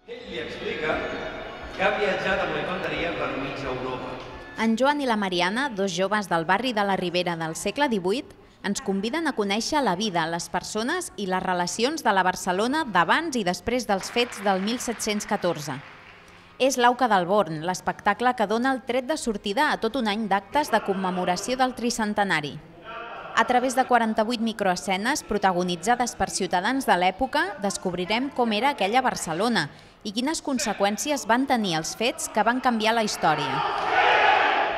Ell li explica que ha viatjat amb la conteria per mitja Europa. En Joan i la Mariana, dos joves del barri de la Ribera del segle XVIII, ens conviden a conèixer la vida, les persones i les relacions de la Barcelona d'abans i després dels fets del 1714. És l'Auca del Born, l'espectacle que dona el tret de sortida a tot un any d'actes de commemoració del tricentenari. A través de 48 microescenes protagonitzades per ciutadans de l'època, descobrirem com era aquella Barcelona i quines conseqüències van tenir els fets que van canviar la història.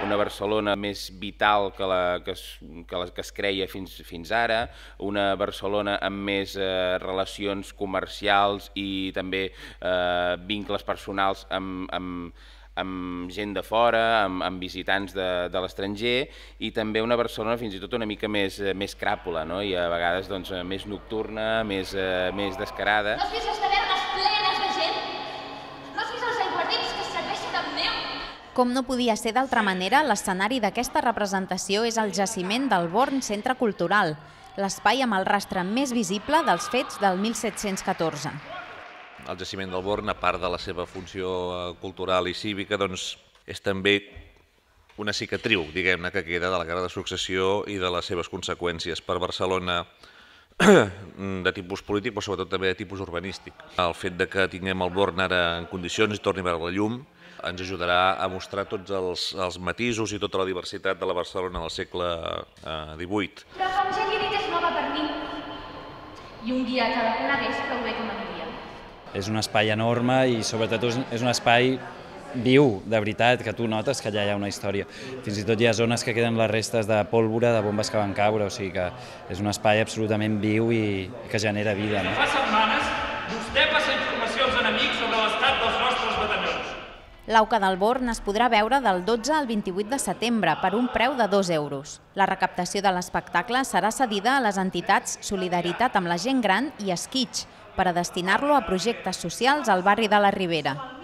Una Barcelona més vital que es creia fins ara, una Barcelona amb més relacions comercials i també vincles personals amb gent de fora, amb visitants de l'estranger, i també una Barcelona fins i tot una mica més cràpula, i a vegades més nocturna, més descarada. No has vist les tavernes plenes de gent? No has vist els aiguardents que es serveixen amb neu? Com no podia ser d'altra manera, l'escenari d'aquesta representació és el jaciment del Born Centre Cultural, l'espai amb el rastre més visible dels fets del 1714. El jaciment del Born, a part de la seva funció cultural i cívica, és també una cicatriu, diguem-ne, que queda de la Guerra de Successió i de les seves conseqüències per Barcelona de tipus polític, però sobretot també de tipus urbanístic. El fet que tinguem el Born ara en condicions i torni a veure la llum ens ajudarà a mostrar tots els matisos i tota la diversitat de la Barcelona del segle XVIII. Però com ja li he dit, és nova per mi. I un dia que la conegués prou bé com a mi. És un espai enorme i sobretot és un espai viu, de veritat, que tu notes que allà hi ha una història. Fins i tot hi ha zones que queden les restes de pólvora, de bombes que van caure, o sigui que és un espai absolutament viu i que genera vida. Fa setmanes vostè passa informació als enemics sobre l'estat dels nostres batallons. L'Auca del Born es podrà veure del 12 al 28 de setembre per un preu de 2 euros. La recaptació de l'espectacle serà cedida a les entitats Solidaritat amb la Gent Gran i Esquitx per a destinar-lo a projectes socials al barri de la Ribera.